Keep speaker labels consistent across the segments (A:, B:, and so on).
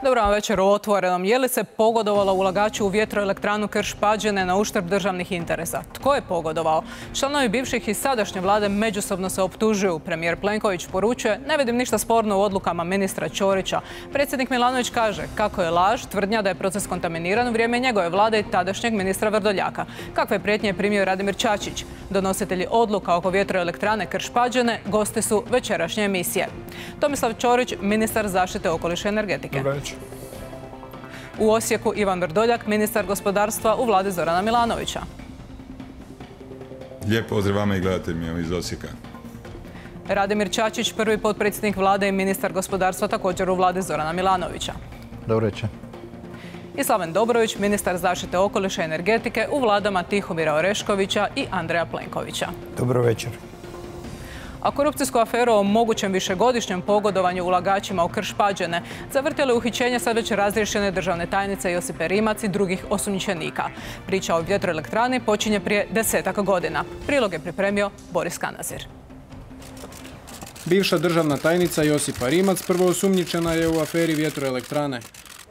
A: Dobro vam večer u Otvorenom. Je li se pogodovalo ulagaču u vjetroelektranu Krš-Pađene na uštrb državnih interesa? Tko je pogodovao? Članovi bivših i sadašnje vlade međusobno se optužuju. Premijer Plenković poručuje: ne vidim ništa sporno u odlukama ministra Ćorića. Predsjednik Milanović kaže kako je laž tvrdnja da je proces kontaminiran u vrijeme njegove vlade i tadašnjeg ministra Vrdoljaka. Kakve prijetnje je primio Radimir Čačić? Donositelji odluka oko vjetroelektrane Krš-Pađene gosti su večerašnje emisije. Tomislav Ćorić, ministar zaštite okoliša i energetike. U Osijeku Ivan Vrdoljak, ministar gospodarstva u vladi Zorana Milanovića.
B: Lijep pozdrav vama i gledateljima iz Osijeka.
A: Radimir Čačić, prvi potpredsjednik vlade i ministar gospodarstva također u vladi Zorana Milanovića.
C: Dobro večer.
A: I Slaven Dobrović, ministar zaštite okoliša i energetike u vladama Tihomira Oreškovića i Andreja Plenkovića.
C: Dobro večer.
A: A korupcijsku aferu o mogućem višegodišnjem pogodovanju ulagačima u Krš-Pađene zavrtjelo uhićenje sad već razriješene državne tajnice Josipe Rimac i drugih osumnjičenika. Priča o vjetroelektrani počinje prije 10-ak godina. Prilog je pripremio Boris Kanazir.
D: Bivša državna tajnica Josipa Rimac prvo osumnjičena je u aferi vjetroelektrane.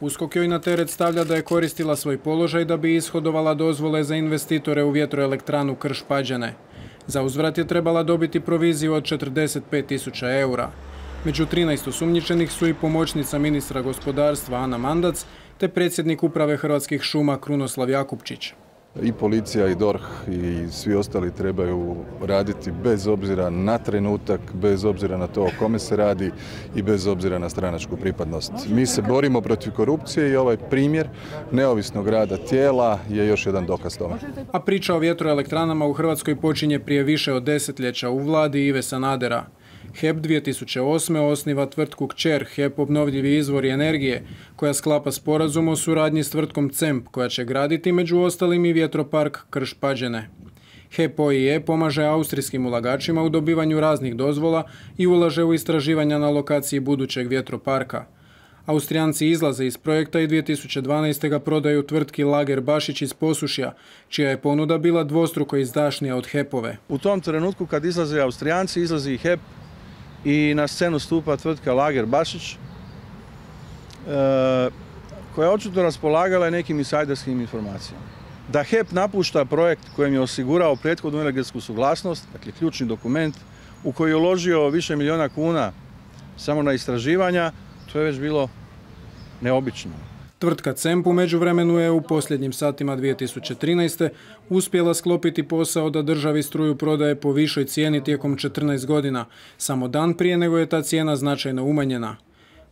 D: USKOK joj na teret stavlja da je koristila svoj položaj da bi ishodovala dozvole za investitore u vjetroelektranu Krš-Pađene. Za uzvrat je trebala dobiti proviziju od 45.000 eura. Među 13 osumnjičenih su i pomoćnica ministra gospodarstva Ana Mandac te predsjednik uprave Hrvatskih šuma Krunoslav Jakupčić.
E: I policija i DORH i svi ostali trebaju raditi bez obzira na trenutak, bez obzira na to o kome se radi i bez obzira na stranačku pripadnost. Mi se borimo protiv korupcije i ovaj primjer neovisnog rada tijela je još jedan dokaz tome.
D: A priča o vjetroelektranama u Hrvatskoj počinje prije više od desetljeća u vladi Ive Sanadera. HEP 2008. osniva tvrtku kćer HEP Obnovljivi izvori energije, koja sklapa sporazum o suradnji s tvrtkom CEMP, koja će graditi među ostalim i vjetropark Krš-Pađene. HEP OIE pomaže austrijskim ulagačima u dobivanju raznih dozvola i ulaže u istraživanja na lokaciji budućeg vjetroparka. Austrijanci izlaze iz projekta i 2012. ga prodaju tvrtki Lager Bašić iz Posušja, čija je ponuda bila dvostruko izdašnija od HEP-ove.
F: U tom trenutku kad izlaze Austrijanci, izlazi i HEP i na scenu stupa tvrtka Lager Bašić, koja je očito raspolagala nekim insajderskim informacijama. Da HEP napušta projekt kojem je osigurao prethodnu energetsku suglasnost, dakle ključni dokument, u koji je uložio više milijuna kuna samo na istraživanja, to je već bilo neobično.
D: Tvrtka CEMP u međuvremenu je u posljednjim satima 2013. uspjela sklopiti posao da državi struju prodaje po višoj cijeni tijekom 14 godina, samo dan prije nego je ta cijena značajno umanjena.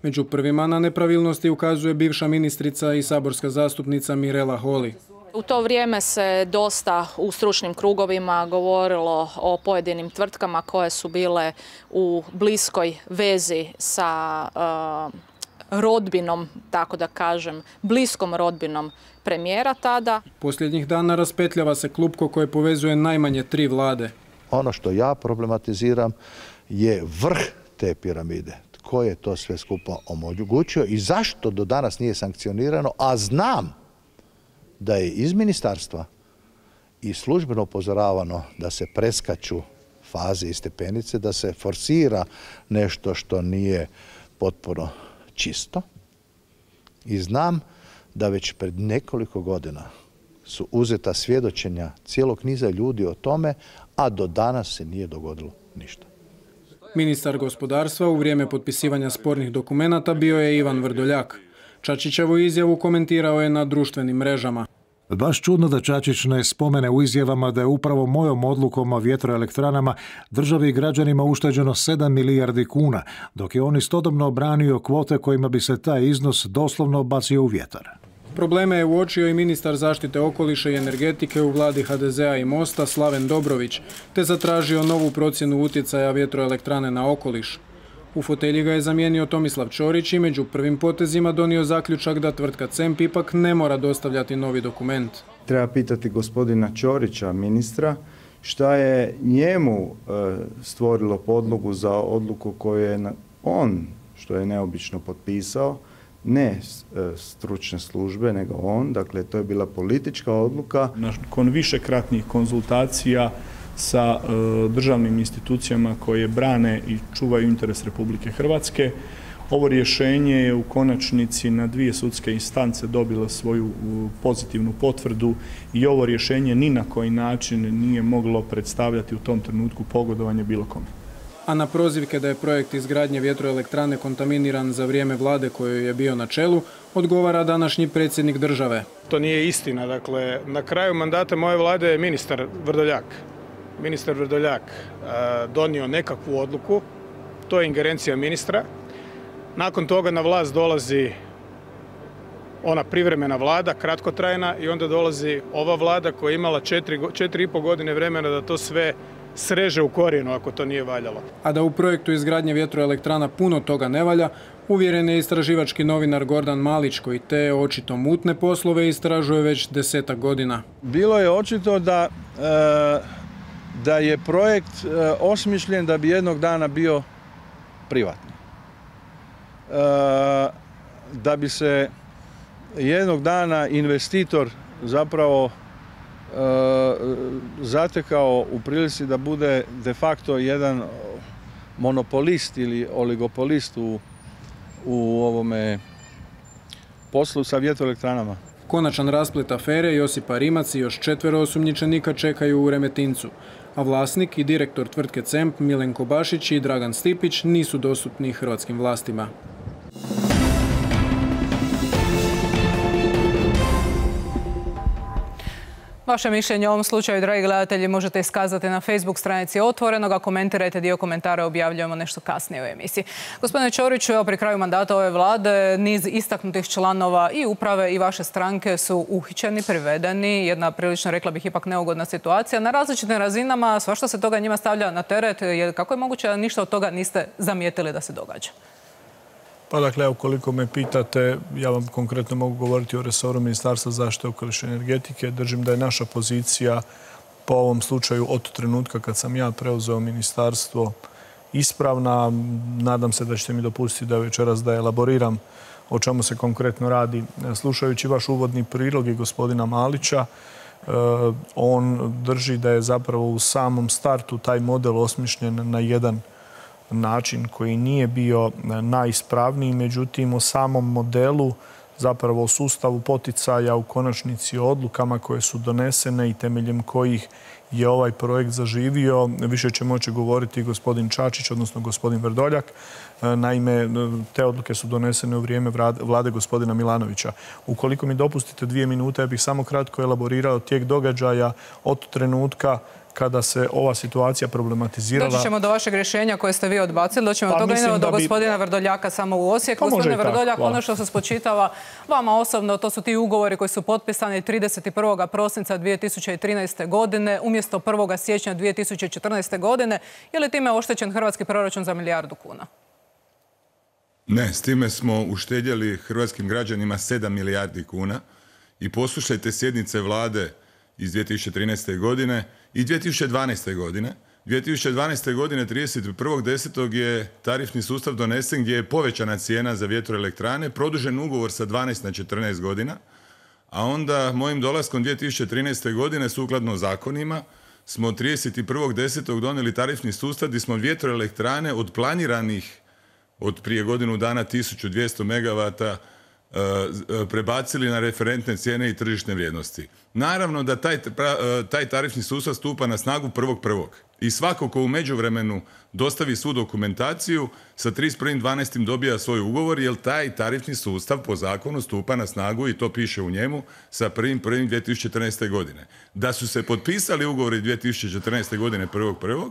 D: Među prvima na nepravilnosti ukazuje bivša ministrica i saborska zastupnica Mirela Holy.
G: U to vrijeme se dosta u stručnim krugovima govorilo o pojedinim tvrtkama koje su bile u bliskoj vezi sa rodbinom, tako da kažem, bliskom rodbinom premijera tada.
D: Posljednjih dana raspetljava se klupko koje povezuje najmanje 3 vlade.
C: Ono što ja problematiziram je vrh te piramide. Tko je to sve skupa omogućio i zašto do danas nije sankcionirano, a znam da je iz ministarstva i službeno upozoravano da se preskaču faze i stepenice, da se forsira nešto što nije potpuno čisto. I znam da već pred nekoliko godina su uzeta svjedočenja cijelog niza ljudi o tome, a do danas se nije dogodilo ništa.
D: Ministar gospodarstva u vrijeme potpisivanja spornih dokumenata bio je Ivan Vrdoljak. Čačićevu izjavu komentirao je na društvenim mrežama.
H: Baš čudno da Čačić ne spomene u izjavama da je upravo mojom odlukom o vjetroelektranama državi i građanima ušteđeno 7 milijardi kuna, dok je on istodobno obranio kvote kojima bi se taj iznos doslovno bacio u vjetar.
D: Probleme je uočio i ministar zaštite okoliša i energetike u vladi HDZ-a i Mosta Slaven Dobrović, te zatražio novu procjenu utjecaja vjetroelektrane na okoliš. U fotelji ga je zamijenio Tomislav Ćorić i među prvim potezima donio zaključak da tvrtka CEMP ipak ne mora dostavljati novi dokument.
I: Treba pitati gospodina Ćorića, ministra, šta je njemu stvorilo podlogu za odluku koju je on, što je neobično, potpisao, ne stručne službe, nego on. Dakle, to je bila politička odluka.
J: Nakon višekratnih konzultacija sa državnim institucijama koje brane i čuvaju interes Republike Hrvatske, Ovo rješenje je u konačnici na 2 sudske instance dobilo svoju pozitivnu potvrdu i ovo rješenje ni na koji način nije moglo predstavljati u tom trenutku pogodovanje bilo kome.
D: A na prozivke da je projekt izgradnje vjetroelektrane kontaminiran za vrijeme vlade kojoj je bio na čelu, odgovara današnji predsjednik države.
K: To nije istina. Dakle, na kraju mandata moje vlade je ministar Vrdoljak donio nekakvu odluku, to je ingerencija ministra. Nakon toga na vlast dolazi ona privremena vlada, kratkotrajna, i onda dolazi ova vlada koja je imala 4,5 godine vremena da to sve sreže u korijenu ako to nije valjalo.
D: A da u projektu izgradnje vjetroelektrana puno toga ne valja, uvjeren je istraživački novinar Gordan Malić, koji te očito mutne poslove istražuje već 10-ak godina.
F: Bilo je očito da je projekt osmišljen da bi jednog dana bio privatni. Da bi se jednog dana investitor zapravo zatekao u prilici da bude de facto jedan monopolist ili oligopolist u ovome poslu sa vjetroelektranama.
D: Konačan rasplet afere Josipa Rimac i još 4 osumnjičenika čekaju u Remetincu, a vlasnik i direktor tvrtke CEMP Milenko Bašić i Dragan Stipić nisu dostupni hrvatskim vlastima.
A: Vaše mišljenje o ovom slučaju, dragi gledatelji, možete iskazati na Facebook stranici Otvorenoga. Komentirajte, dio komentara objavljujemo nešto kasnije u emisiji. Gospodine Ćoriću, evo pri kraju mandata ove vlade niz istaknutih članova i uprave i vaše stranke su uhićeni, privedeni. Jedna prilično, rekla bih, ipak neugodna situacija. Na različitim razinama svašta se toga njima stavlja na teret. Kako je moguće da ništa od toga niste zamijetili da se događa?
J: Pa dakle, ukoliko me pitate, ja vam konkretno mogu govoriti o resoru Ministarstva zaštite okoliša i energetike. Držim da je naša pozicija po ovom slučaju od trenutka kad sam ja preuzeo ministarstvo ispravna. Nadam se da ćete mi dopustiti da večeras da elaboriram o čemu se konkretno radi. Slušajući vaš uvodni prilog i gospodina Malića, on drži da je zapravo u samom startu taj model osmišljen na jedan način koji nije bio najispravniji, međutim o samom modelu, zapravo o sustavu poticaja, u konačnici o odlukama koje su donesene i temeljem kojih je ovaj projekt zaživio, više će moći govoriti gospodin Čačić, odnosno gospodin Vrdoljak. Naime, te odluke su donesene u vrijeme vlade gospodina Milanovića. Ukoliko mi dopustite 2 minute, ja bih samo kratko elaborirao tijek događaja od trenutka kada se ova situacija problematizirala.
A: Doći ćemo do vašeg rješenja koje ste vi odbacili. Doći ćemo do toga, idemo do gospodina Vrdoljaka samo u Osijek. Gospodine Vrdoljak, ono što se spočitava vama osobno, to su ti ugovori koji su potpisani 31. prosinca 2013. godine umjesto 1. siječnja 2014. godine. Je li time oštećen hrvatski proračun za 1 milijardu kuna?
B: Ne, s time smo uštedjeli hrvatskim građanima 7 milijardi kuna i poslušajte sjednice vlade iz 2013. godine i 2012. godine. 2012. godine 31.10. je tarifni sustav donesen gdje je povećana cijena za vjetroelektrane, produžen ugovor sa 12 na 14 godina, a onda mojim dolaskom 2013. godine sukladno zakonima smo 31.10. donijeli tarifni sustav gdje smo vjetroelektrane od planiranih od prije godinu dana 1200 megavata prebacili na referentne cijene i tržišne vrijednosti. Naravno da taj tarifni sustav stupa na snagu 1.1. I svako ko u međuvremenu dostavi svu dokumentaciju sa 31.12. dobija svoj ugovor, jer taj tarifni sustav po zakonu stupa na snagu, i to piše u njemu, sa 1.1.2014. godine. Da su se potpisali ugovori 2014. godine 1.1.,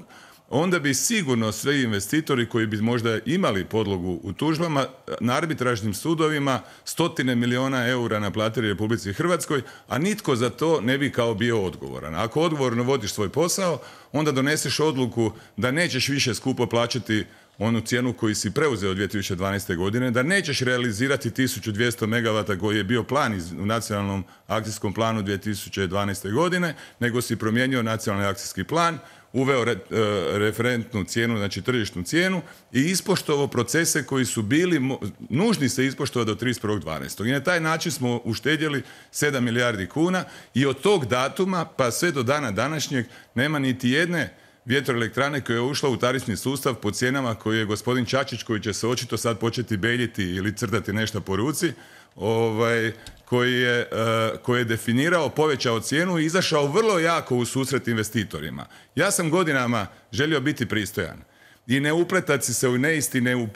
B: onda bi sigurno svi investitori koji bi možda imali podlogu u tužbama na arbitražnim sudovima 100 milijuna eura naplatili Republici Hrvatskoj, a nitko za to ne bi kao bio odgovoran. Ako odgovorno vodiš svoj posao, onda doneseš odluku da nećeš više skupo plaćati onu cijenu koju si preuzeo 2012. godine, da nećeš realizirati 1200 megavata koji je bio plan u nacionalnom akcijskom planu 2012. godine, nego si promijenio nacionalni akcijski plan, uveo referentnu cijenu, znači tržišnu cijenu, i ispoštovao procese koji su bili nužni se ispoštovati do 31.12. I na taj način smo uštedjeli 7 milijardi kuna i od tog datuma pa sve do dana današnjeg nema niti jedne vjetroelektrane koja je ušla u tarifni sustav po cijenama koji je gospodin Čačić, koji će se očito sad početi beljiti ili crtati nešto po ruci, koji je definirao, povećao cijenu i izašao vrlo jako u susret investitorima. Ja sam godinama želio biti pristojan i ne upletati se u neistine,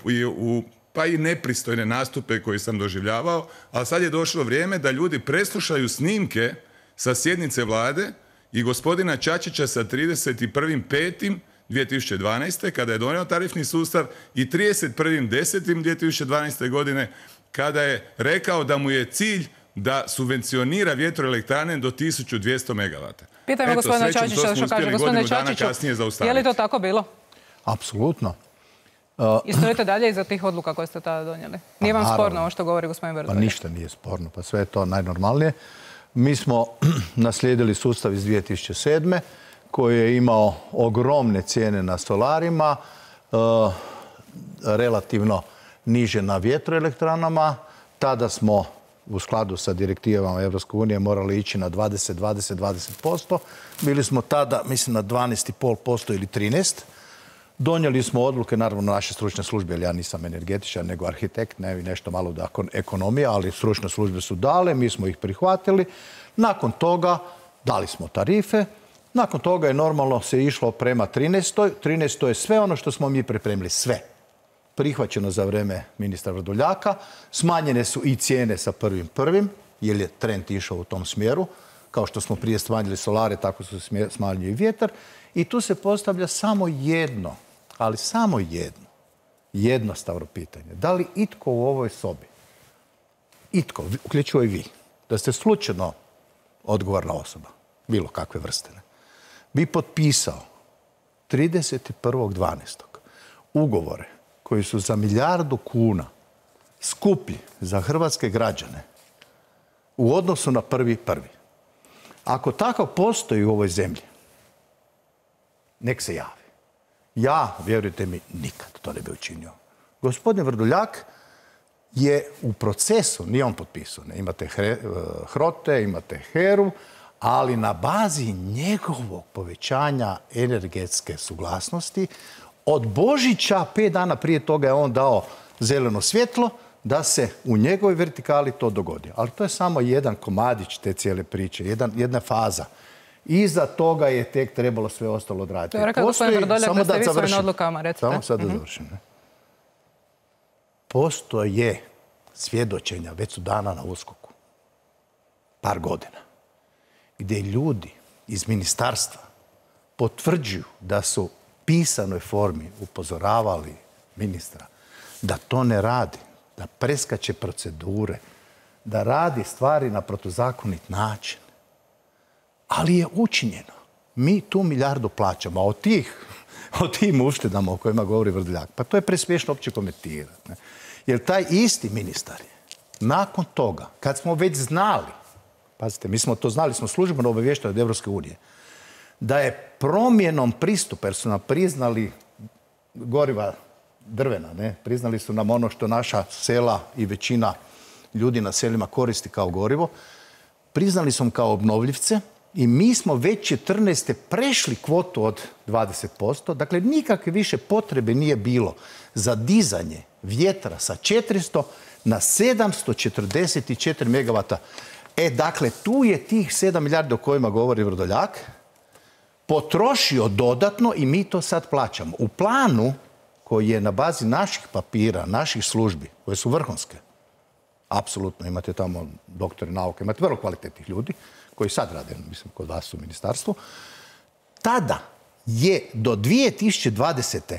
B: pa i nepristojne nastupe koje sam doživljavao, ali sad je došlo vrijeme da ljudi preslušaju snimke sa sjednice vlade i gospodina Čačića sa 31.5.2012. kada je donio tarifni sustav i 31.10.2012. godine kada je rekao da mu je cilj da subvencionira vjetroelektrane do 1200 megavata.
A: Pitajmo gospodina Čačića što kaže. Gospodine Čačiću, je li to tako bilo?
C: Apsolutno.
A: I stojite dalje iza tih odluka koje ste tada donijeli? Nije vam sporno ovo što govori gospodin Vrdoljak?
C: Pa ništa nije sporno, pa sve je to najnormalnije. Mi smo naslijedili sustav iz 2007. koji je imao ogromne cijene na solarima, relativno niže na vjetroelektranama. Tada smo u skladu sa direktivama Evropske unije morali ići na 20%. Bili smo tada, mislim, na 12,5% ili 13%. Donijeli smo odluke, naravno, naše stručne službe, jer ja nisam energetičar, nego arhitekt, ne nešto malo da ekonomija, ali stručne službe su dale, mi smo ih prihvatili. Nakon toga dali smo tarife, nakon toga je normalno se išlo prema 13. 13. je sve ono što smo mi pripremili, sve. Prihvaćeno za vrijeme ministra Vrdoljaka, smanjene su i cijene sa 1.1. jer je trend išao u tom smjeru. Kao što smo prije smanjili solare, tako su smanjili i vjetar. I tu se postavlja samo jedno, ali samo jedno, jednostavno pitanje. Da li itko u ovoj sobi, itko, uključujući i vi, da ste slučajno odgovorna osoba, bilo kakve vrste, bi potpisao 31.12. ugovore koji su za 1 milijardu kuna skuplji za hrvatske građane u odnosu na 1.1. Ako takav postoji u ovoj zemlji, nek se javi. Ja, vjerujte mi, nikad to ne bi učinio. Gospodin Vrdoljak je u procesu, nije on potpisao, ne, imate HROTE, imate HERU, ali na bazi njegovog povećanja energetske suglasnosti, od Božića 5 dana prije toga je on dao zeleno svjetlo da se u njegovoj vertikali to dogodi. Ali to je samo jedan komadić te cijele priče, jedna faza. Iza toga je tek trebalo sve ostalo odraditi.
A: To je rekao gospodin Vrdoljak da ste vi svojim odlukama, recite.
C: Samo sad da završim. Postoje svjedočenja, već su dana na USKOK-u, par godina, gdje ljudi iz ministarstva potvrđuju da su u pisanoj formi upozoravali ministra da to ne radi, da preskače procedure, da radi stvari na protuzakonit način. Ali je učinjeno. Mi tu 1 milijardu plaćamo, a o tim uštedama o kojima govori Vrdoljak, pa to je presmiješno uopće komentirati. Jer taj isti ministar je nakon toga, kad smo već znali, pazite, mi smo to znali, smo službeno obaviješteni od Evropske unije, da je promjenom pristupa, jer su nam priznali goriva drvena, ne? Priznali su nam ono što naša sela i većina ljudi na selima koristi kao gorivo, priznali su nam kao obnovljivce i mi smo već 14. prešli kvotu od 20%, dakle nikakve više potrebe nije bilo za dizanje vjetra sa 400 na 744 megavata. Dakle, tu je tih 7 milijardi o kojima govori Vrdoljak potrošio dodatno i mi to sad plaćamo. U planu koji je na bazi naših papira, naših službi, koje su vrhunske, apsolutno imate tamo doktori nauke, imate vrlo kvalitetnih ljudi koji sad rade, mislim, kod vas u ministarstvu, tada je do 2020.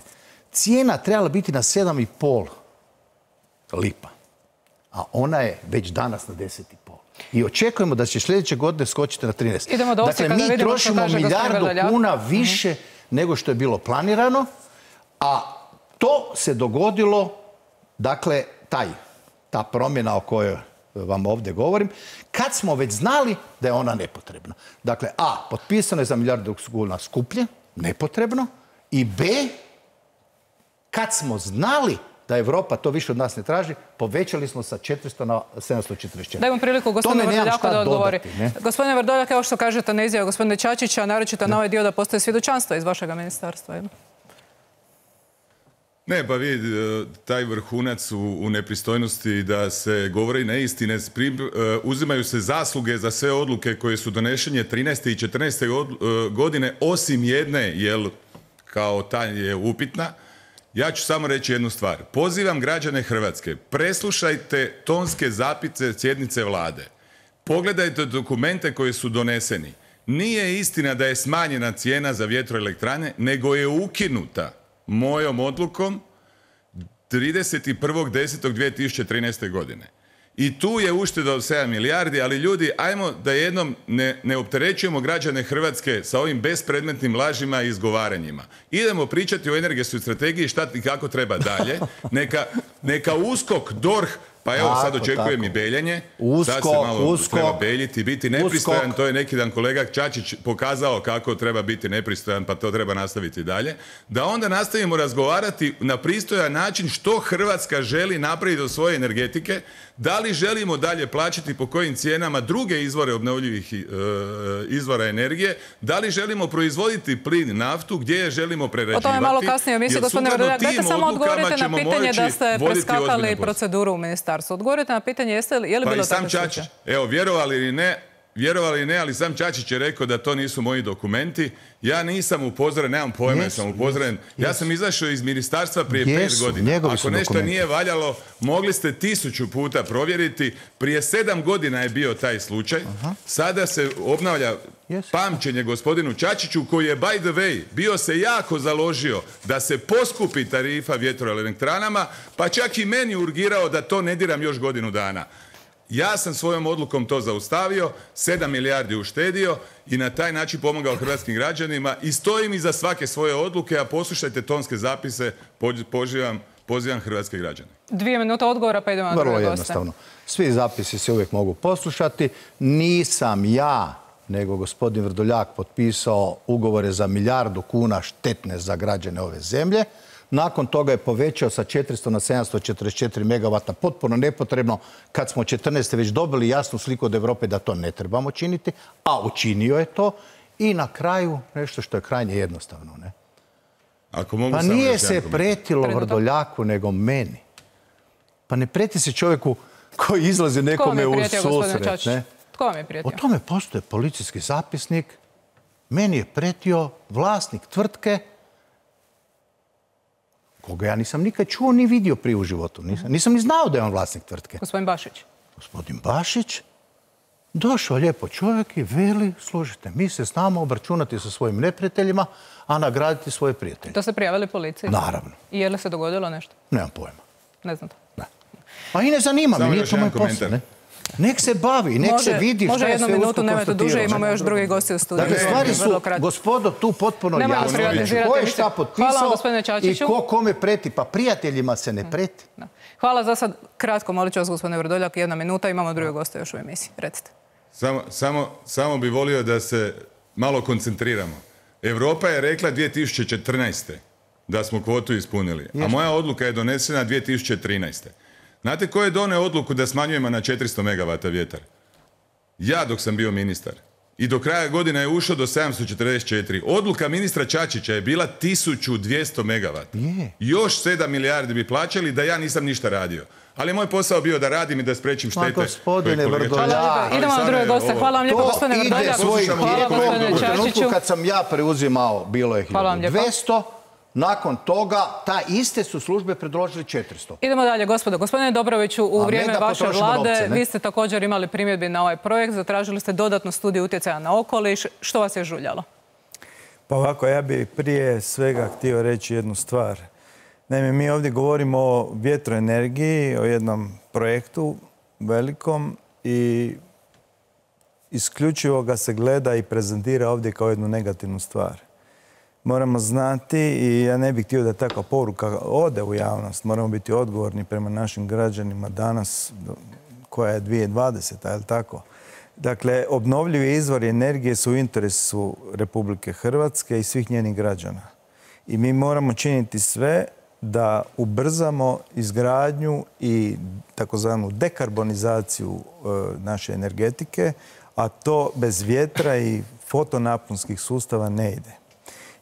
C: cijena trebala biti na 7,5 lipa, a ona je već danas na 10,5. I očekujemo da će sljedeće godine skočiti na 13.
A: Idemo do Osijeka,
C: dakle, mi trošimo 1 milijardu kuna više nego što je bilo planirano, a to se dogodilo, dakle, ta promjena o kojoj vam ovdje govorim, kad smo već znali da je ona nepotrebna. Dakle, A, potpisano je za 1 milijardu kuna skuplje, nepotrebno, i B, kad smo znali da Europa to više od nas ne traži, povećali smo sa 400 na 744.
A: Dajmo priliku gospodinu Vrdoljaku da odgovori. Gospodine Vrdoljak, evo što kažete na izjavu gospodine Čačića, naročito na ovaj dio da postoje svjedočanstva iz vašega ministarstva.
B: Ne, pa vi, taj vrhunac u nepristojnosti da se govori neistine, uzimaju se zasluge za sve odluke koje su donešenje 13. i 14. godine, osim jedne, jer kao ta je upitna. Ja ću samo reći jednu stvar. Pozivam građane Hrvatske, preslušajte tonske zapise sjednice vlade. Pogledajte dokumente koji su doneseni. Nije istina da je smanjena cijena za vjetroelektrane, nego je ukinuta mojom odlukom 31.10.2013. godine. I tu je ušteda od 7 milijardi, ali ljudi, ajmo da jednom ne opterećujemo građane Hrvatske sa ovim bespredmetnim lažima i izgovaranjima. Idemo pričati o energetskoj strategiji, šta i kako treba dalje. Neka USKOK, DORH, pa evo sad očekujem i beljenje. Sad se malo treba beljiti, biti nepristojan. To je neki dan kolega Čačić pokazao kako treba biti nepristojan, pa to treba nastaviti dalje. Da onda nastavimo razgovarati na pristojan način što Hrvatska želi napraviti od svoje energetike, da li želimo dalje plaćati po kojim cijenama druge izvore obnovljivih izvora energije, da li želimo proizvoditi plin, naftu, gdje je želimo prerađivati.
A: O tome malo kasnije misli, gospodine Vrdoljak. Dajte samo odgovorite na pitanje da ste preskakali proceduru u ministarstvu. Odgovorite na pitanje je li bilo tako slučaj?
B: Evo, vjerovali ili ne, ali sam Čačić je rekao da to nisu moji dokumenti. Ja nisam upozoren, nemam pojma da sam upozoren. Ja sam izašao iz ministarstva prije 5 godina. Ako nešto nije valjalo, mogli ste 1000 puta provjeriti. Prije 7 godina je bio taj slučaj. Sada se obnavlja pamćenje gospodinu Čačiću, koji je, by the way, bio se jako založio da se poskupi tarifa vjetroelektranama, pa čak i meni urgirao da to ne diram još godinu dana. Ja sam svojom odlukom to zaustavio, 7 milijardi uštedio i na taj način pomogao hrvatskim građanima i stojim iza svake svoje odluke, a poslušajte tonske zapise, pozivam hrvatske građane.
A: 2 minute odgovora, pa idemo na druge goste.
C: Vrlo jednostavno. Svi zapisi se uvijek mogu poslušati. Nisam ja, nego gospodin Vrdoljak potpisao ugovore za 1 milijardu kuna štetne za građane ove zemlje. Nakon toga je povećao sa 400 na 744 megavata, potpuno nepotrebno, kad smo 14. već dobili jasnu sliku od Europe da to ne trebamo činiti, a učinio je to. I na kraju nešto što je krajnje jednostavno. Ne? Pa nije se pretilo Vrdoljaku, nego meni. Pa ne preti se čovjeku koji izlazi nekome u susret. Ne?
A: Tko vam je prijetio?
C: O tome postoje policijski zapisnik. Meni je pretio vlasnik tvrtke koga ja nisam nikad čuo ni vidio prije u životu. Nisam ni znao da je on vlasnik tvrtke.
A: Gospodin Bašić.
C: Gospodin Bašić došao lijepo čovjek i veli, slušajte, mi se znamo obračunati sa svojim neprijateljima, a nagraditi svoje prijatelje.
A: To ste prijavili policiji?
C: Naravno.
A: I je li se dogodilo nešto?
C: Nemam pojma.
A: Ne znate?
C: Ne. A i ne zanima me, nije to moj posao. Nek se bavi, nek se vidi šta je sve
A: usko konstatirano. Može 1 minutu, nemojte duže, imamo još drugi gosti u studiju.
C: Dakle, stvari su, gospodo, tu potpuno jasno. Ko je šta potpisao i ko kome preti, pa prijateljima se ne preti.
A: Hvala za sad. Kratko, molit ću vas, gospodine Vrdoljak, 1 minuta, imamo drugi goste još u emisiji. Recite.
B: Samo bi volio da se malo koncentriramo. Europa je rekla 2014. da smo kvotu ispunili, a moja odluka je donesena 2013. Znate ko je doneo odluku da smanjujemo na 400 megavata vjetar? Ja dok sam bio ministar. I do kraja godine je ušao do 744. Odluka ministra Čačića je bila 1200 megavata. Još 7 milijardi bi plaćali da ja nisam ništa radio. Ali moj posao bio da radim i da sprečim štete.
C: Gospodine Vrdoljak.
A: Idemo na druge goste. Hvala vam lijepo, gospodine Vrdoljak.
C: U trenutku kad sam ja preuzimao, bilo je 1200. Nakon toga, ta iste su službe predložili 400.
A: Idemo dalje, gospodo. Gospodine Dobroviću, u vrijeme vaše vlade vi ste također imali primjedbi na ovaj projekt, zatražili ste dodatnu studiju utjecaja na okoliš. Što vas je žuljalo?
L: Pa ovako, ja bih prije svega htio reći jednu stvar. Naime, mi ovdje govorimo o vjetroenergiji, o jednom projektu velikom i isključivo ga se gleda i prezentira ovdje kao jednu negativnu stvar. Moramo znati, i ja ne bih htio da takva poruka ode u javnost, moramo biti odgovorni prema našim građanima danas, koja je 2020, je li tako? Dakle, obnovljivi izvori energije su u interesu Republike Hrvatske i svih njenih građana. I mi moramo činiti sve da ubrzamo izgradnju i takozvanu dekarbonizaciju naše energetike, a to bez vjetra i fotonaponskih sustava ne ide.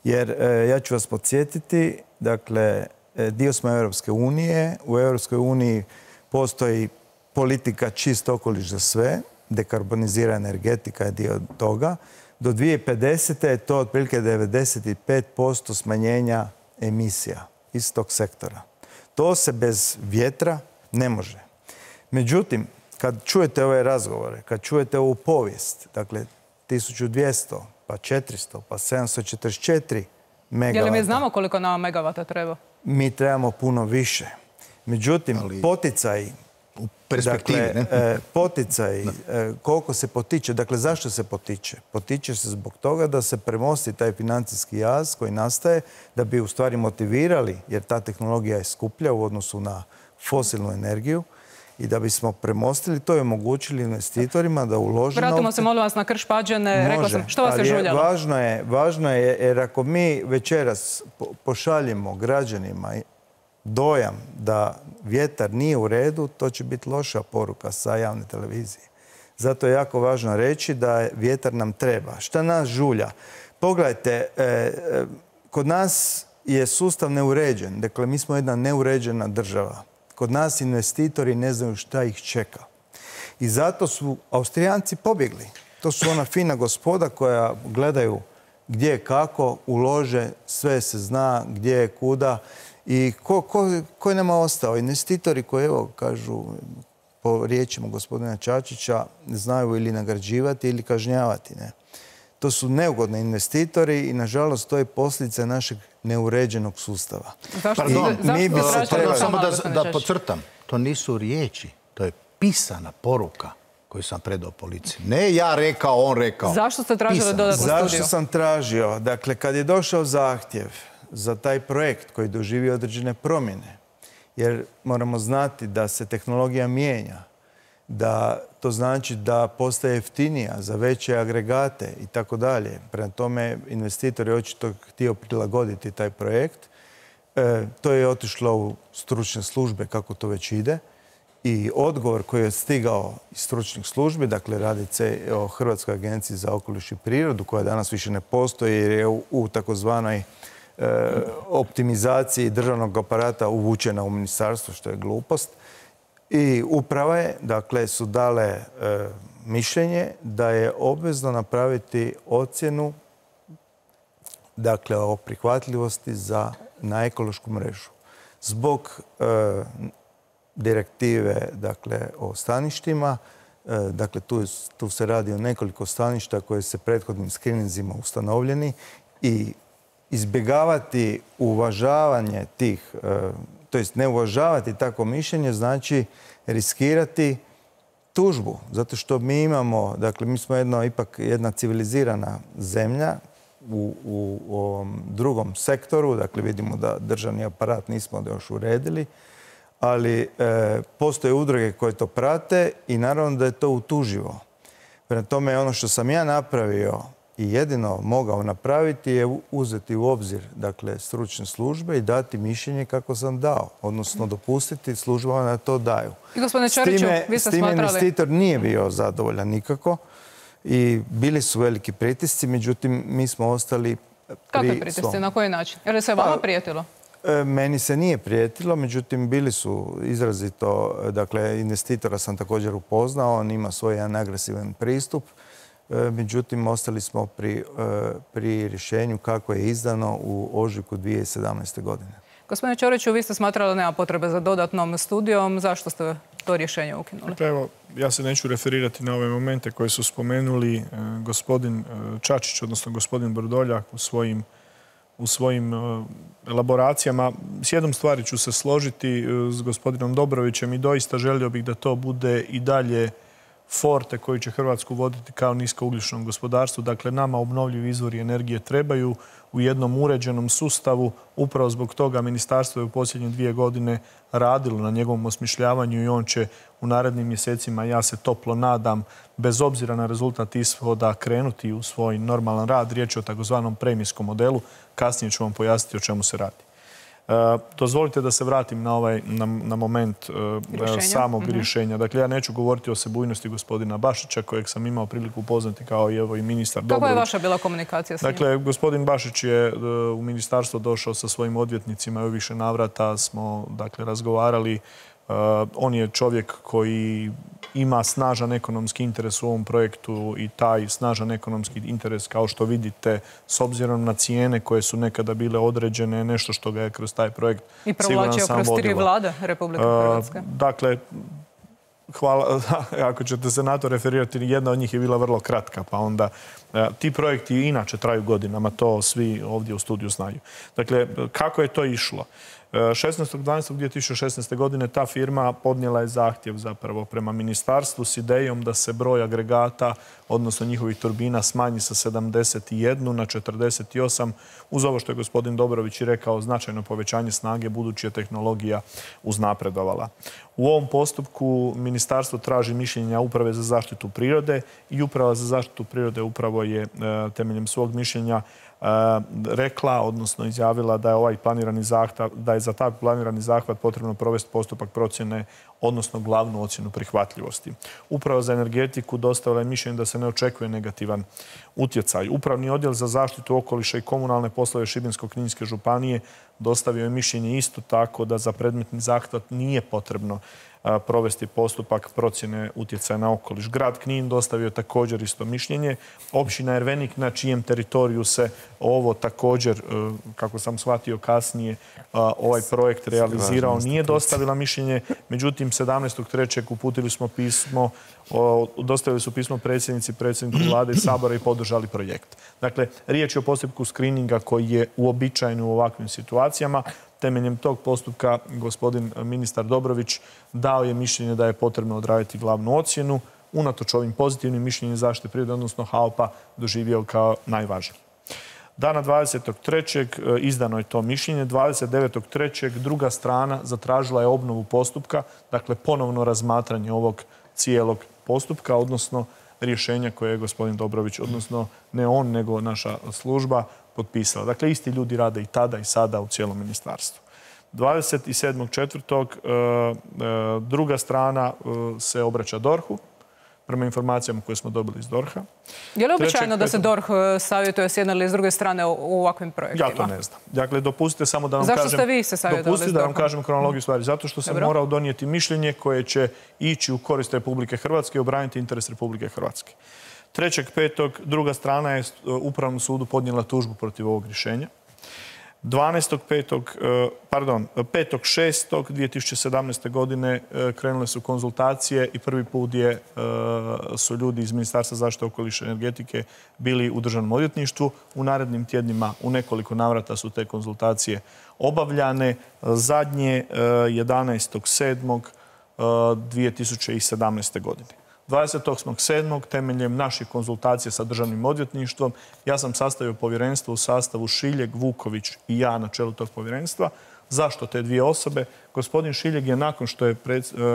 L: Jer ja ću vas podsjetiti, dakle, dio smo Europske unije, u Europskoj uniji postoji politika čist okoliš za sve, dekarbonizira energetika je dio toga. Do 2050. je to otprilike 95% smanjenja emisija iz tog sektora. To se bez vjetra ne može. Međutim, kad čujete ove razgovore, kad čujete ovu povijest, dakle 1200, pa 400, pa 744 megavata.
A: Je li mi znamo koliko nama megavata treba?
L: Mi trebamo puno više. Međutim, poticaji,
C: u perspektivi,
L: dakle, poticaji, koliko se potiče, dakle zašto se potiče? Potiče se zbog toga da se premosti taj financijski jaz koji nastaje, da bi u stvari motivirali, jer ta tehnologija je skuplja u odnosu na fosilnu energiju, i da bismo premostili to i omogućili investitorima da ulože novce.
A: Vratimo se, molim vas, na Krš-Pađene. Rekla sam, što vas je žuljalo?
L: Važno je, jer ako mi večeras pošaljemo građanima dojam da vjetar nije u redu, to će biti loša poruka sa javne televizije. Zato je jako važno reći da vjetar nam treba. Šta nas žulja? Pogledajte, kod nas je sustav neuređen. Dakle, mi smo jedna neuređena država. Kod nas investitori ne znaju šta ih čeka. I zato su Austrijanci pobjegli. To su ona fina gospoda koja gledaju gdje je kako, ulože, sve se zna, gdje je kuda. I ko je nama ostao? Investitori koji, evo, kažu, po riječima gospodina Čačića, znaju ili nagrađivati ili kažnjavati. Ne? To su neugodni investitori i, nažalost, to je posljedica našeg neuređenog sustava.
C: Pardon, samo da podcrtam. To nisu riječi, to je pisana poruka koju sam predao policiji. Ne ja rekao, on rekao.
A: Zašto ste tražili dodatnu studiju?
L: Zašto sam tražio? Dakle, kad je došao zahtjev za taj projekt koji doživi određene promjene, jer moramo znati da se tehnologija mijenja, da to znači da postaje jeftinija za veće agregate i tako dalje. Prema tome, investitor je očito htio prilagoditi taj projekt. To je otišlo u stručne službe, kako to već ide. I odgovor koji je stigao iz stručnih službi, dakle radi se o Hrvatskoj agenciji za okoliš i prirodu, koja danas više ne postoji jer je u takozvanoj optimizaciji državnog aparata uvučena u ministarstvo, što je glupost. I uprava je, dakle, su dale mišljenje da je obvezno napraviti ocjenu, dakle, o prihvatljivosti na ekološku mrežu. Zbog direktive, dakle, o staništima, dakle, tu se radi o nekoliko staništa koje se prethodnim skrininzima ustanovljeni, i izbjegavati uvažavanje tih, to jest ne uvažavati takvo mišljenje, znači riskirati tužbu. Zato što mi imamo, dakle, mi smo ipak jedna civilizirana zemlja u ovom drugom sektoru, dakle vidimo da državni aparat nismo još uredili, ali postoje udruge koje to prate i naravno da je to utuživo. Prema tome, ono što sam ja napravio i jedino mogao napraviti je uzeti u obzir, dakle, stručne službe i dati mišljenje kako sam dao, odnosno dopustiti službama da to daju.
A: I gospodine Ćoriću, vi ste smatrali...
L: investitor nije bio zadovoljan nikako i bili su veliki pritisci, međutim, mi smo ostali pri svom.
A: Kakvi pritisci? Na koji način? Jer se vama prijetilo?
L: Meni se nije prijetilo, međutim, bili su izrazito, dakle, investitora sam također upoznao, on ima svoj jedan agresivan pristup. Međutim, ostali smo pri rješenju kako je izdano u ožujku 2017. godine.
A: Gospodine Ćoriću, vi ste smatrali da nema potrebe za dodatnom studijom. Zašto ste to rješenje ukinuli?
J: Dakle, evo, ja se neću referirati na ove momente koje su spomenuli gospodin Čačić, odnosno gospodin Vrdoljak u svojim elaboracijama. S jednom stvari ću se složiti s gospodinom Dobrovićem i doista želio bih da to bude i dalje forte koji će Hrvatsku voditi kao niskougljičnom gospodarstvu. Dakle, nama obnovljivi izvori energije trebaju u jednom uređenom sustavu. Upravo zbog toga ministarstvo je u posljednje 2 godine radilo na njegovom osmišljavanju i on će u narednim mjesecima, ja se toplo nadam, bez obzira na rezultat ishoda, krenuti u svoj normalan rad. Riječ je o takozvanom premijskom modelu. Kasnije ću vam pojasniti o čemu se radi. Dozvolite da se vratim na moment samog rješenja. Dakle, ja neću govoriti o sebujnosti gospodina Bašića, kojeg sam imao priliku upoznati kao i ministar Dobrović.
A: Kako je vaša bila komunikacija s njim?
J: Dakle, gospodin Bašić je u ministarstvo došao sa svojim odvjetnicima i u više navrata smo razgovarali. On je čovjek koji ima snažan ekonomski interes u ovom projektu i taj snažan ekonomski interes, kao što vidite, s obzirom na cijene koje su nekada bile određene, nešto što ga je kroz taj projekt siguran sam vodilo. I provlačio kroz 3 vlade Republike Hrvatske. Dakle, hvala, ako ćete se na to referirati, jedna od njih je bila vrlo kratka, pa onda ti projekti inače traju godinama, to svi ovdje u studiju znaju. Dakle, kako je to išlo? 16.12.2016. godine ta firma podnijela je zahtjev zapravo prema ministarstvu s idejom da se broj agregata, odnosno njihovih turbina, smanji sa 71 na 48, uz ovo što je gospodin Dobrović i rekao, značajno povećanje snage budući je tehnologija uznapredovala. U ovom postupku ministarstvo traži mišljenja Uprave za zaštitu prirode i Uprava za zaštitu prirode upravo je temeljem svog mišljenja rekla, odnosno izjavila da je da je za taj planirani zahvat potrebno provesti postupak procjene, odnosno glavnu ocjenu prihvatljivosti. Uprava za energetiku dostavila je mišljenje da se ne očekuje negativan utjecaj. Upravni odjel za zaštitu okoliša i komunalne poslove Šibensko-kninske županije dostavio je mišljenje isto tako da za predmetni zahvat nije potrebno provesti postupak procjene utjecaja na okoliš. Grad Knin dostavio je također isto mišljenje. Općina Ervenik, na čijem teritoriju se ovo također, kako sam shvatio kasnije, ovaj projekt realizirao, nije dostavila mišljenje. Međutim, 17.3. uputili smo pismo, dostavili su pismo predsjedniku Vlade i Sabora i podržali projekt. Dakle, riječ je o postupku skrininga koji je uobičajen u ovakvim situacijama. Temeljem tog postupka gospodin ministar Dobrović dao je mišljenje da je potrebno odraditi glavnu ocjenu. Unatoč ovim pozitivnim mišljenjem zaštite prirode, odnosno HAOP-a, doživio kao najvažniji. Dana 20.3. izdano je to mišljenje. 29.3. druga strana zatražila je obnovu postupka, dakle ponovno razmatranje ovog cijelog postupka, odnosno rješenja koje je gospodin Dobrović, odnosno ne on, nego naša služba, potpisala. Dakle, isti ljudi rade i tada i sada u cijelom ministarstvu. 27.4. druga strana se obraća DORH-u, prema informacijama koje smo dobili iz DORH-a.
A: Je li običajno da se DORH savjetuje s jedne ili s druge strane u ovakvim projektima?
J: Ja to ne znam. Dakle, dopustite samo da vam kažem...
A: Zašto ste vi se savjetovali s DORH-om?
J: Dopustite da vam kažem kronologiju stvari. Zato što sam morao donijeti mišljenje koje će ići u korist Republike Hrvatske i obraniti interes Republike Hrvatske. 3.5. druga strana je Upravnom sudu podnijela tužbu protiv ovog rješenja. 5.6.2017. godine krenule su konzultacije i prvi put su ljudi iz Ministarstva zaštite okoliša i energetike bili u Državnom odvjetništvu. U narednim tjednima u nekoliko navrata su te konzultacije obavljane. Zadnje 11.7.2017. godine. 28.7. temeljem naših konzultacija sa Državnim odvjetništvom ja sam sastavio povjerenstvo u sastavu Šiljeg, Vuković i ja na čelu tog povjerenstva. Zašto te dvije osobe? Gospodin Šiljeg je nakon što je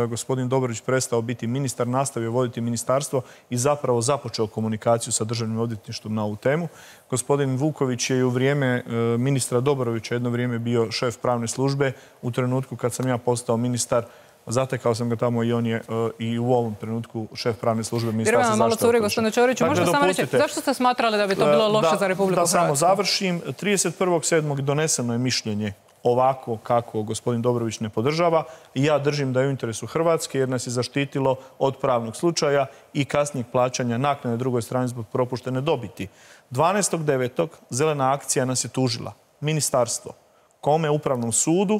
J: gospodin Dobrović prestao biti ministar, nastavio voditi ministarstvo i zapravo započeo komunikaciju sa Državnim odvjetništvom na ovu temu. Gospodin Vuković je i u vrijeme ministra Dobrovića jedno vrijeme bio šef pravne službe. U trenutku kad sam ja postao ministar, zatekao sam ga tamo i on je i u ovom trenutku šef pravne službe Ministarstva zaštite okoliša.
A: Gospodine Ćoriću, možete samo reći zašto ste smatrali da bi to bilo loše za Republiku Hrvatsku?
J: Da samo završim. 31.7. doneseno je mišljenje ovako kako gospodin Dobrović ne podržava i ja držim da je u interesu Hrvatske jer nas je zaštitilo od pravnog slučaja i kasnijeg plaćanja naknade drugoj strani zbog propuštene dobiti. 12.9. Zelena akcija nas je tužila. Ministarstvo. Kome? Upravnom sudu.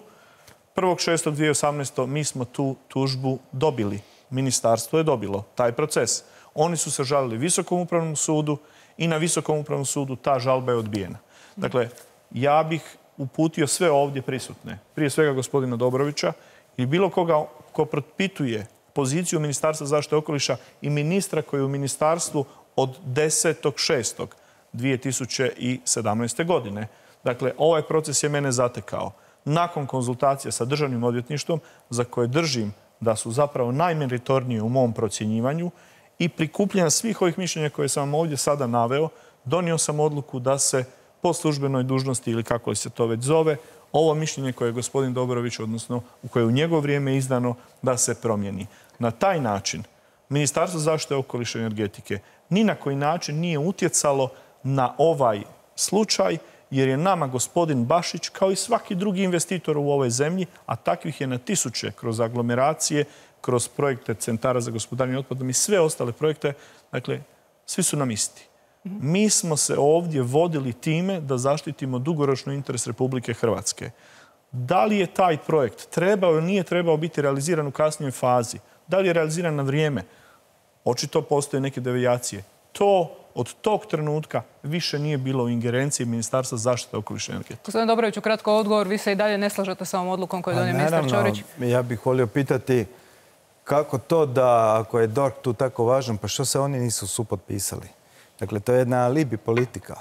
J: 1.6.2018. mi smo tu tužbu dobili. Ministarstvo je dobilo taj proces. Oni su se žalili Visokom upravnom sudu i na Visokom upravnom sudu ta žalba je odbijena. Dakle, ja bih uputio sve ovdje prisutne, prije svega gospodina Dobrovića i bilo koga ko propituje poziciju Ministarstva zaštite okoliša i ministra koji je u ministarstvu od 10.6.2017. godine. Dakle, ovaj proces je mene zatekao. Nakon konzultacija sa Državnim odvjetništvom, za koje držim da su zapravo najmeritornije u mom procjenjivanju i prikupljanja svih ovih mišljenja koje sam vam ovdje sada naveo, donio sam odluku da se po službenoj dužnosti ili kako li se to već zove, ovo mišljenje koje je gospodin Dobrović, odnosno u koje je u njegovo vrijeme izdano, da se promijeni. Na taj način Ministarstvo zaštite okoliša i energetike ni na koji način nije utjecalo na ovaj slučaj, jer je nama gospodin Bašić, kao i svaki drugi investitor u ovoj zemlji, a takvih je na tisuće kroz aglomeracije, kroz projekte centara za gospodarenje otpadom i sve ostale projekte, dakle, svi su nam isti. Mi smo se ovdje vodili time da zaštitimo dugoročno interes Republike Hrvatske. Da li je taj projekt trebao ili nije trebao biti realiziran u kasnijoj fazi? Da li je realiziran na vrijeme? Očito postoje neke devijacije. To od tog trenutka više nije bilo u ingerenciji Ministarstva zaštite okoliša i energetike.
A: Gospodin Dobrović, kratko odgovor. Vi se i dalje ne slažete sa ovom odlukom koju je donio ministar Ćorić?
L: Ja bih volio pitati kako to da, ako je DORH tu tako važan, pa što se oni nisu supotpisali? Dakle, to je jedna alibi politika.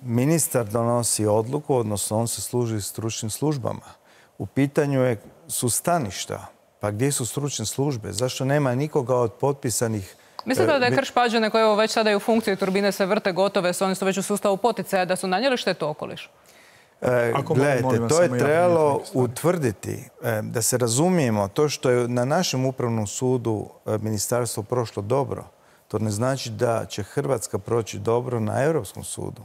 L: Ministar donosi odluku, odnosno on se služi stručnim službama. U pitanju su staništa. Pa gdje su stručne službe? Zašto nema nikoga od potpisanih?
A: Mislite da je Krš-Pađene, koje već sada je u funkciji, turbine se vrte gotove, oni su već u sustavu poticaja, da su nanijeli štetu okolišu?
L: Gledajte, to je trebalo utvrditi, da se razumijemo, to što je na našem upravnom sudu ministarstvo prošlo dobro, to ne znači da će Hrvatska proći dobro na Europskom sudu,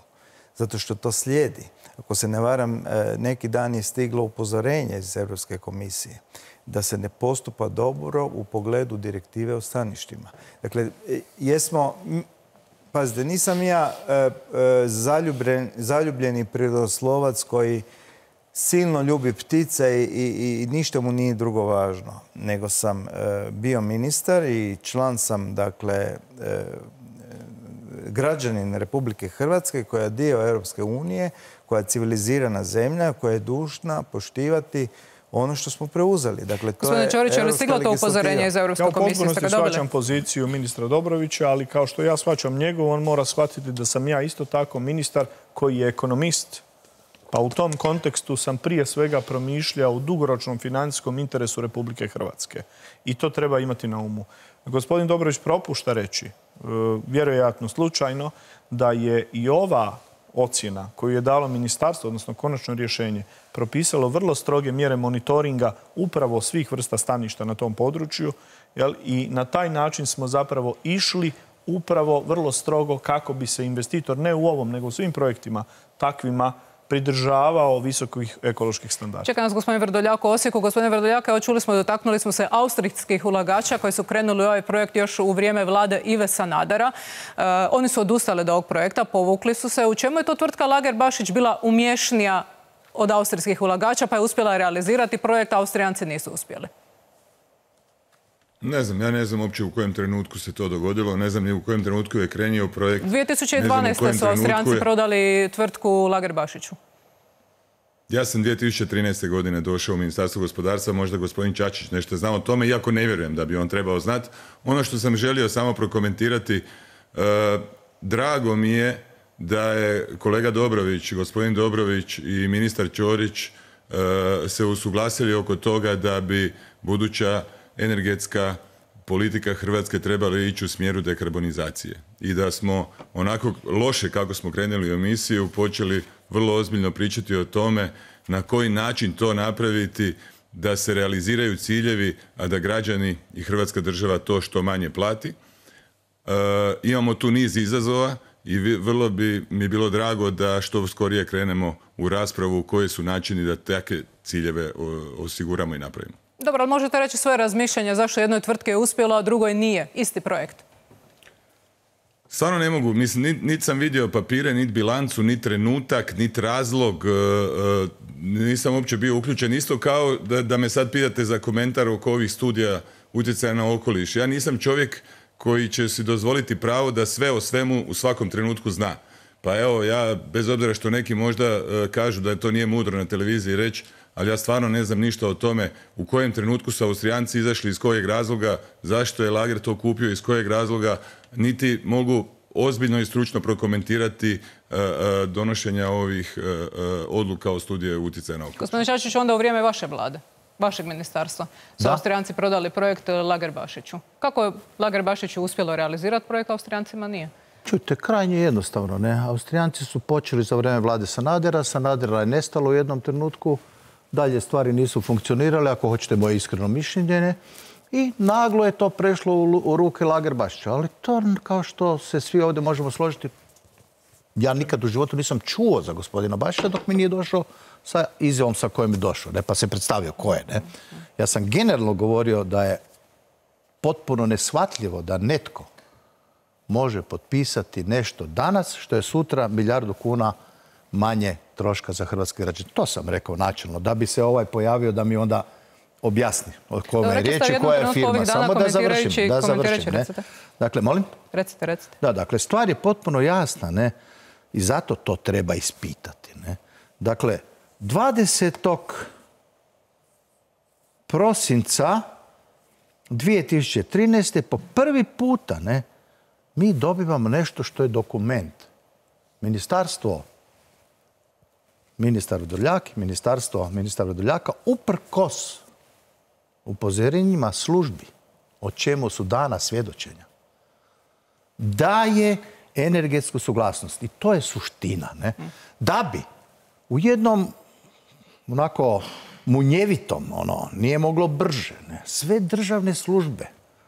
L: zato što to slijedi. Ako se ne varam, neki dan je stiglo upozorenje iz Europske komisije da se ne postupa dobro u pogledu direktive o staništima. Dakle, pazite, nisam ja zaljubljeni prirodoslovac koji silno ljubi ptice i ništa mu nije drugo važno, nego sam bio ministar i član sam, dakle, građanin Republike Hrvatske koja je dio Europske unije, koja je civilizirana zemlja, koja je dužna poštivati ono što smo preuzeli. Dakle,
A: gospodine Ćorić, je li stiglo to upozorenje iz Europske komisije?
J: Ja u potpunosti shvaćam poziciju ministra Dobrovića, ali kao što ja shvaćam njegovu, on mora shvatiti da sam ja isto tako ministar koji je ekonomist. Pa u tom kontekstu sam prije svega promišljao u dugoročnom financijskom interesu Republike Hrvatske. I to treba imati na umu. Gospodin Dobrović propušta reći, vjerojatno slučajno, da je i ova ocjena koju je dalo ministarstvo, odnosno konačno rješenje, propisalo vrlo stroge mjere monitoringa upravo svih vrsta staništa na tom području, i na taj način smo zapravo išli upravo vrlo strogo kako bi se investitor, ne u ovom, nego u svim projektima takvima, pridržavao visokih ekoloških standarda.
A: Čeka nas gospodin Vrdoljak u Osijeku. Gospodine Vrdoljak, evo čuli smo, dotaknuli smo se austrijskih ulagača koji su krenuli u ovaj projekt još u vrijeme vlade Ive Sanadera. Oni su odustali od ovog projekta, povukli su se. U čemu je to tvrtka Lager-Bašić bila umješnija od austrijskih ulagača pa je uspjela realizirati projekt, a Austrijanci nisu uspjeli?
B: Ne znam, ja ne znam uopće u kojem trenutku se to dogodilo, ne znam ni u kojem trenutku je krenio projekt.
A: 2012. su Austrijanci prodali tvrtku Lager-Bašiću.
B: Ja sam 2013. godine došao u Ministarstvo gospodarstva, možda gospodin Čačić nešto zna o tome, iako ne vjerujem da bi on trebao znati. Ono što sam želio samo prokomentirati, drago mi je da je kolega Dobrović, gospodin Dobrović i ministar Ćorić se usuglasili oko toga da bi buduća energetska politika Hrvatske trebala ići u smjeru dekarbonizacije. I da smo onako loše kako smo krenuli u emisiju počeli vrlo ozbiljno pričati o tome na koji način to napraviti da se realiziraju ciljevi, a da građani i Hrvatska država to što manje plati. Imamo tu niz izazova i vrlo bi mi bilo drago da što skorije krenemo u raspravu koji su načini da takve ciljeve osiguramo i napravimo.
A: Dobro, ali možete reći svoje razmišljanje zašto jednoj tvrtki je uspjelo, a drugoj nije? Isti projekt.
B: Stvarno ne mogu. Mislim, niti sam vidio papire, niti bilancu, niti trenutak, niti razlog. Nisam uopće bio uključen. Isto kao da me sad pitate za komentar oko ovih studija utjecaja na okoliš. Ja nisam čovjek koji će si dozvoliti pravo da sve o svemu u svakom trenutku zna. Pa evo, ja, bez obzira što neki možda kažu da to nije mudro na televiziji reći, ali ja stvarno ne znam ništa o tome u kojem trenutku su Austrijanci izašli, iz kojeg razloga, zašto je Lager to kupio, iz kojeg razloga, niti mogu ozbiljno i stručno prokomentirati donošenja ovih odluka o studiju utjecaja na okoliš.
A: Gospodin Čačić, onda u vrijeme vaše vlade, vašeg ministarstva, su Austrijanci prodali projekt Lager-Bašiću. Kako je Lager-Bašiću uspjelo realizirati projekt, Austrijancima nije?
C: Čujte, krajnje jednostavno, ne? Austrijanci su počeli za vrijeme vlade Sanadera. Sanadera je nestalo u jednom trenutku. Dalje stvari nisu funkcionirale, ako hoćete moje iskreno mišljenje, ne? I naglo je to prešlo u ruke Lagerbašića. Ali to, kao što se svi ovdje možemo složiti, ja nikad u životu nisam čuo za gospodina Bašića dok mi nije došao sa izjavom sa kojom je došao, ne? Pa se predstavio ko je, ne? Ja sam generalno govorio da je potpuno neshvatljivo da netko može potpisati nešto danas što je sutra 1 milijardu kuna manje troška za hrvatske građane. To sam rekao načelno, da bi se ovaj pojavio da mi onda objasni o kome je riječ i koja je firma. Samo da završim, ne? Dakle, molim?
A: Recite.
C: Da, dakle, stvar je potpuno jasna, ne? I zato to treba ispitati, ne? Dakle, 20. prosinca 2013. po prvi puta, ne, mi dobivamo nešto što je dokument. Ministar Vrdoljaka, uprkos upozorenjima službi, o čemu su dana svjedočenja, daje energetsku suglasnost. I to je suština, ne? Da bi u jednom onako munjevitom, nije moglo brže, ne? Sve državne službe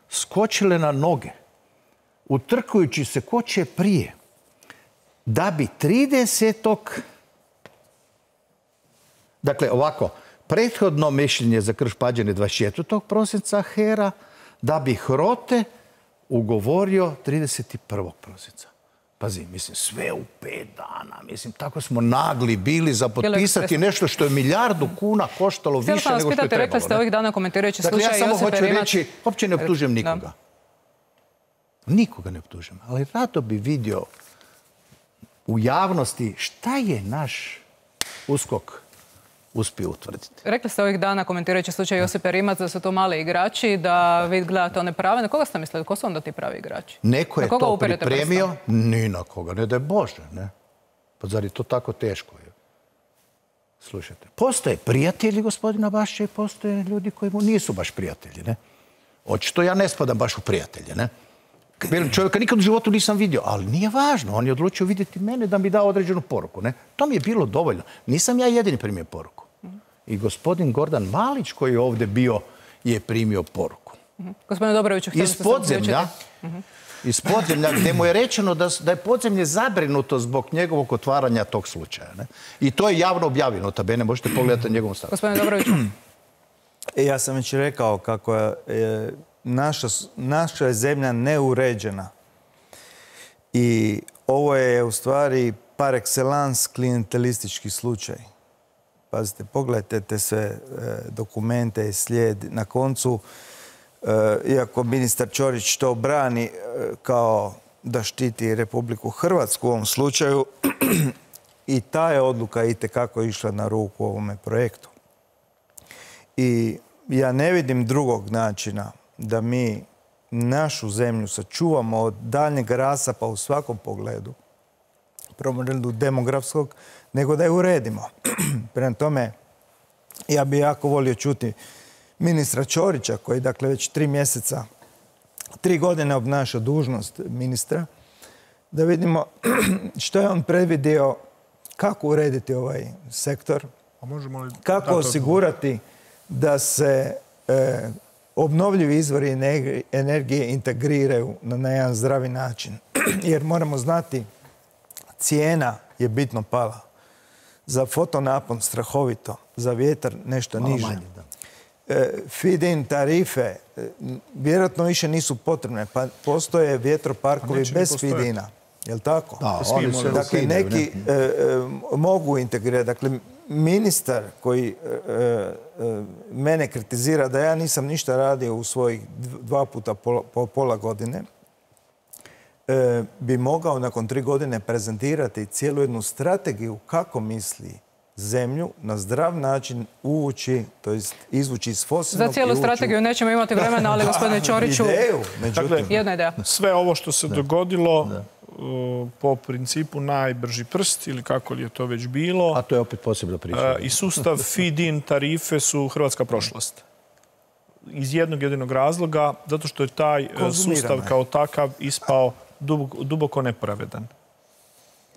C: skočile na noge, utrkujući se ko će prije, da bi 30. Dakle, ovako, prethodno mišljenje za Krš-Pađene 24. prosinca HERA, da bi HROTE ugovorio 31. prosinca. Pazi, mislim, sve u 5 dana. Mislim, tako smo nagli bili za potpisati nešto što je 1 milijardu kuna koštalo više nego što je trebalo.
A: Rekli ste ovih dana komentirajući slučaj Josipe Rimac.
C: Dakle, ja samo hoću reći, uopće ne optužujem nikoga. Nikoga ne optužujem. Ali rado bi vidio u javnosti šta je naš USKOK uspio utvrditi.
A: Rekli ste ovih dana, komentirajući slučaj Josipe Rimac, da su to mali igrači, da vi gledate one prave. Na koga ste mislili? Ko su onda ti pravi igrači?
C: Neko je to pripremio, ni na koga, ne daj Bože, ne? Pa zar je to tako teško? Slušajte, postoje prijatelji gospodina Bašića i postoje ljudi koji mu nisu baš prijatelji, ne? Očito ja ne spadam baš u prijatelje, ne? Čovjeka nikad u životu nisam vidio, ali nije važno. On je odlučio vidjeti mene da mi da određenu poruku, ne? To mi je bilo dovoljno. Nisam ja jedini primio poruku. I gospodin Gordan Malić koji je ovdje bio je primio poruku.
A: Gospodine Dobroviću, htjeli ste se uključiti?
C: Iz podzemlja, gdje mu je rečeno da je podzemlje zabrinuto zbog njegovog otvaranja tog slučaja. Ne? I to je javno objavljeno, tabene, možete pogledati na njegovom stavu.
A: Gospodine Dobroviću.
L: Ja sam već rekao kako je naša je zemlja neuređena. I ovo je u stvari par excellence klijentelistički slučaj. Pazite, pogledajte te sve dokumente i slijed. Na koncu, iako ministar Ćorić to brani kao da štiti Republiku Hrvatsku u ovom slučaju, i ta je odluka itekako išla na ruku ovome projektu. I ja ne vidim drugog načina da mi našu zemlju sačuvamo od daljnjeg rasapa u svakom pogledu, prvom redu demografskog, nego da je uredimo. Prema tome, ja bih jako volio čuti ministra Ćorića, koji dakle već 3 godine obnaša dužnost ministra, da vidimo što je on predvidio, kako urediti ovaj sektor, kako osigurati da se obnovljivi izvori energije integriraju na jedan zdravi način. Jer moramo znati, cijena je bitno pala. Za fotonapon strahovito, za vjetar nešto niže. Feed-in tarife vjerojatno više nisu potrebne, pa postoje vjetroparkovi bez feed-ina. Je li tako? Dakle, neki mogu integrirati. Dakle, ministar koji mene kritizira da ja nisam ništa radio u svojih 2 puta po pola godine, bi mogao nakon 3 godine prezentirati cijelu jednu strategiju kako misli zemlju na zdrav način uvući, to jest izvući iz fosilnog.
A: Za cijelu strategiju nećemo imati vremena, ali gospodine Ćoriću, jedna ideja.
J: Sve ovo što se dogodilo po principu najbrži prst ili kako li je to već bilo.
C: A to je opet posebna priča.
J: I sustav feed-in tarife su hrvatska prošlost. Iz jednog jedinog razloga, zato što je taj sustav kao takav ispao duboko nepravedan.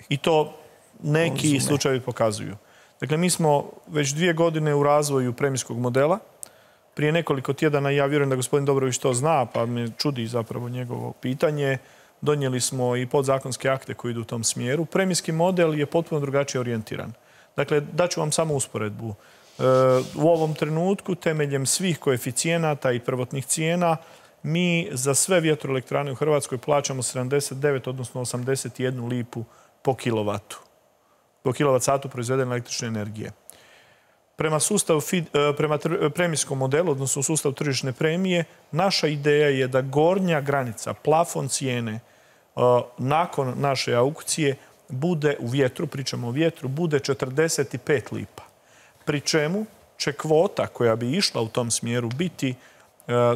J: I to neki slučajevi pokazuju. Dakle, mi smo već 2 godine u razvoju premijskog modela. Prije nekoliko tjedana, ja vjerujem da gospodin Dobrović to zna, pa me čudi zapravo njegovo pitanje, donijeli smo i podzakonske akte koji idu u tom smjeru. Premijski model je potpuno drugačije orijentiran. Dakle, daću vam samo usporedbu. U ovom trenutku, temeljem svih koeficijenata i prvotnih cijena, mi za sve vjetroelektrane u Hrvatskoj plaćamo 79, odnosno 81 lipu po kilovatu. Po kilovat satu proizvedene električne energije. Prema premijskom modelu, odnosno sustavu tržišne premije, naša ideja je da gornja granica, plafon cijene, nakon naše aukcije, bude u vjetru, pričamo o vjetru, bude 45 lipa. Pri čemu će kvota koja bi išla u tom smjeru biti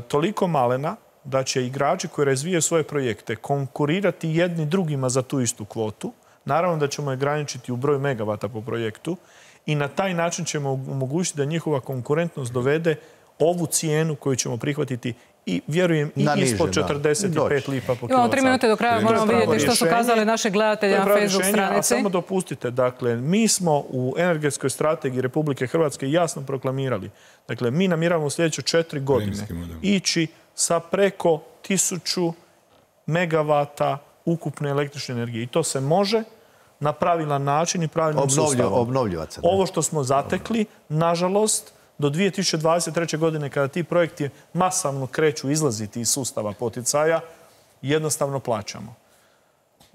J: toliko malena da će igrači koji razvijaju svoje projekte konkurirati jedni drugima za tu istu kvotu. Naravno da ćemo je ograničiti u broju megavata po projektu i na taj način ćemo omogućiti da njihova konkurentnost dovede ovu cijenu koju ćemo prihvatiti i vjerujem i ispod 45 lipa po kilovat.
A: Imamo 3 minute do kraja, moramo vidjeti što su kazali naše gledatelje na Facebook stranici.
J: A samo dopustite, dakle, mi smo u energetskoj strategiji Republike Hrvatske jasno proklamirali. Dakle, mi namjeravamo u sljedeće 4 godine ići sa preko 1000 megavata ukupne električne energije. I to se može na pravilan način i pravilnim sustavom. Ovo što smo zatekli, nažalost, do 2023. godine, kada ti projekti masovno kreću izlaziti iz sustava poticaja, jednostavno plaćamo.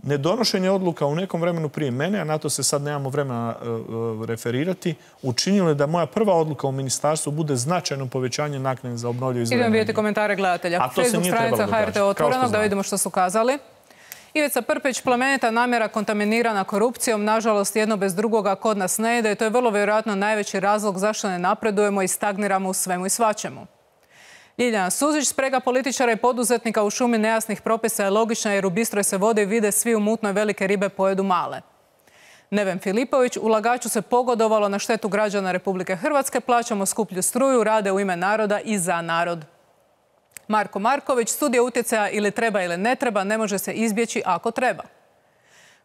J: Nedonošenje odluka u nekom vremenu prije mene, a na to se sad nemamo vremena referirati, učinilo je da moja prva odluka u ministarstvu bude značajno povećanje naknade za obnovljive izvore energije.
A: Idemo vidjeti komentare gledatelja. Facebook stranica HRT Otvorenog, da vidimo što su kazali. Ivica Prpić, plemenita namjera kontaminirana korupcijom, nažalost jedno bez drugoga kod nas ne ide i to je vrlo vjerojatno najveći razlog zašto ne napredujemo i stagniramo u svemu i svačemu. Ljiljana Suzić, sprega političara i poduzetnika u šumi nejasnih propisa je logična jer u bistroj se vode vide svi u mutnoj, velike ribe pojedu male. Neven Filipović, ulagaču se pogodovalo na štetu građana Republike Hrvatske, plaćamo skuplju struju, rade u ime naroda i za narod. Marko Marković, studija utjecaja ili treba ili ne treba, ne može se izbjeći ako treba.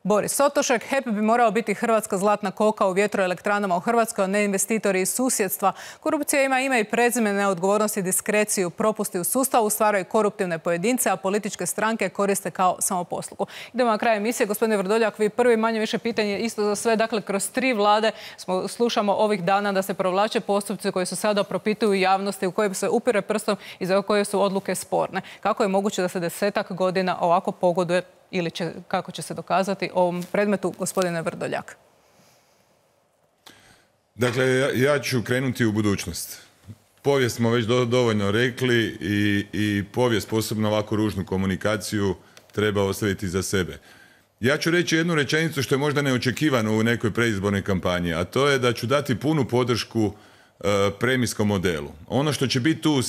A: Boris Sotošek, HEP bi morao biti hrvatska zlatna koka u vjetroelektranama u Hrvatskoj, a ne investitori iz susjedstva. Korupcija ima ime i prezime, neodgovornost i diskreciju. Propusti u sustavu stvaraju koruptivne pojedince, a političke stranke koriste kao samoposlugu. Idemo na kraj emisije. Gospodine Vrdoljak, vi prvi manje više pitanje isto za sve. Dakle, kroz 3 vlade slušamo ovih dana da se provlače postupci koji se sada propituju javnosti, u kojoj se upire prstom i za koje su odluke sporne. Kako je moguće da se 10-ak godina ovako pogoduje ili kako će se dokazati ovom predmetu, gospodine Vrdoljak?
B: Dakle, ja ću krenuti u budućnost. Povijest smo već dovoljno rekli i povijest, posebno ovako ružnu komunikaciju, treba ostaviti za sebe. Ja ću reći jednu rečenicu što je možda neočekivano u nekoj predizbornoj kampanji, a to je da ću dati punu podršku premijskom modelu. Ono što će biti tu,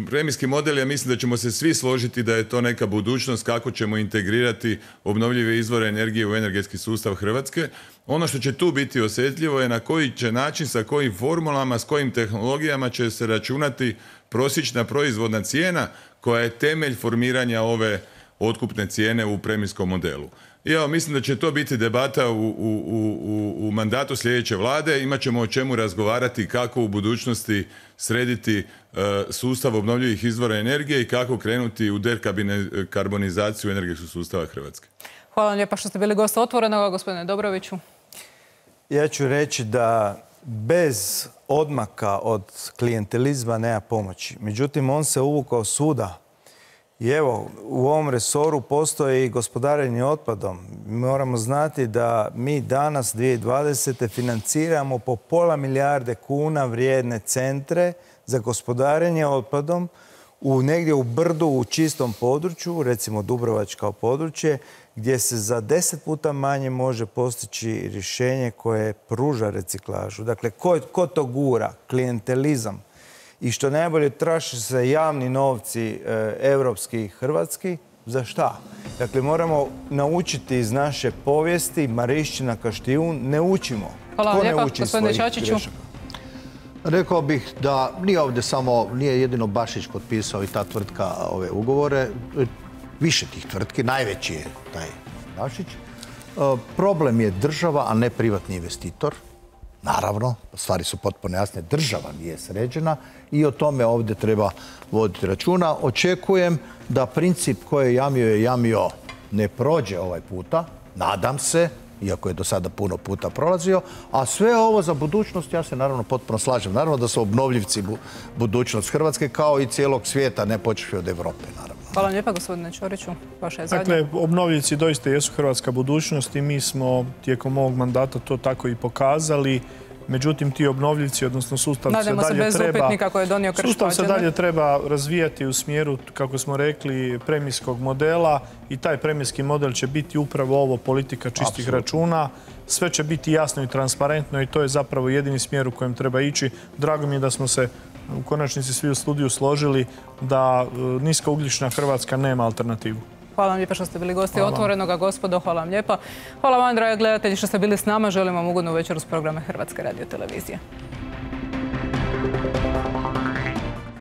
B: premijski model, ja mislim da ćemo se svi složiti da je to neka budućnost kako ćemo integrirati obnovljive izvore energije u energetski sustav Hrvatske. Ono što će tu biti osjetljivo je na koji će način, sa kojim formulama, s kojim tehnologijama će se računati prosječna proizvodna cijena koja je temelj formiranja ove otkupne cijene u premijskom modelu. I evo, mislim da će to biti debata u mandatu sljedeće vlade. Imaćemo o čemu razgovarati kako u budućnosti srediti sustav obnovljivih izvora energije i kako krenuti u dekarbonizaciju energetskog sustava Hrvatske.
A: Hvala vam lijepa što ste bili gost Otvorenog, gospodine Dobroviću.
L: Ja ću reći da bez odmaka od klijentelizma nema pomoći. Međutim, on se uvukao svuda. I evo, u ovom resoru postoji i gospodarenje otpadom. Moramo znati da mi danas, 2020. financiramo po £0,5 milijarde kuna vrijedne centre za gospodarenje otpadom negdje u brdu, u čistom području, recimo Dubrovačko područje, gdje se za 10 puta manje može postići rješenje koje pruža reciklažu. Dakle, ko to gura? Klijentelizam. I što najbolje, traže se javni novci evropski i hrvatski. Za šta? Dakle, moramo naučiti iz naše povijesti, Marišćina, Kaštijun, ne učimo.
A: Hvala vam lijepa, gospodine Čačiću.
C: Rekao bih da nije ovdje samo, nije jedino Bašić potpisao i ta tvrtka ove ugovore. više tih tvrtki, najveći je taj Dašić. Problem je država, a ne privatni investitor. Naravno, stvari su potpuno jasne, država nije sređena i o tome ovdje treba voditi računa. Očekujem da princip koji je jamio ne prođe ovaj puta, nadam se, iako je do sada puno puta prolazio, a sve ovo za budućnost, ja se naravno potpuno slažem. Naravno da su obnovljivci budućnost Hrvatske kao i cijelog svijeta, ne počeši od Europe, naravno.
A: Hvala vam lijepa, gospodine Ćoriću. Vaša je zadnja.
J: Dakle, obnovljivci doista jesu hrvatska budućnost i mi smo tijekom ovog mandata to tako i pokazali. Međutim, ti obnovljivci, odnosno sustav se dalje treba razvijati u smjeru, kako smo rekli, premijskog modela i taj premijski model će biti upravo ovo, politika čistih računa. Sve će biti jasno i transparentno i to je zapravo jedini smjer u kojem treba ići. Drago mi je da smo se u konačnici svi u studiju složili da niskougljična Hrvatska nema alternativu.
A: Hvala vam lijepa što ste bili gosti Otvorenoga, gospodo. Hvala vam lijepa. Hvala vam, dragi gledatelji, što ste bili s nama. Želim vam ugodnu večeru s programa Hrvatske radiotelevizije.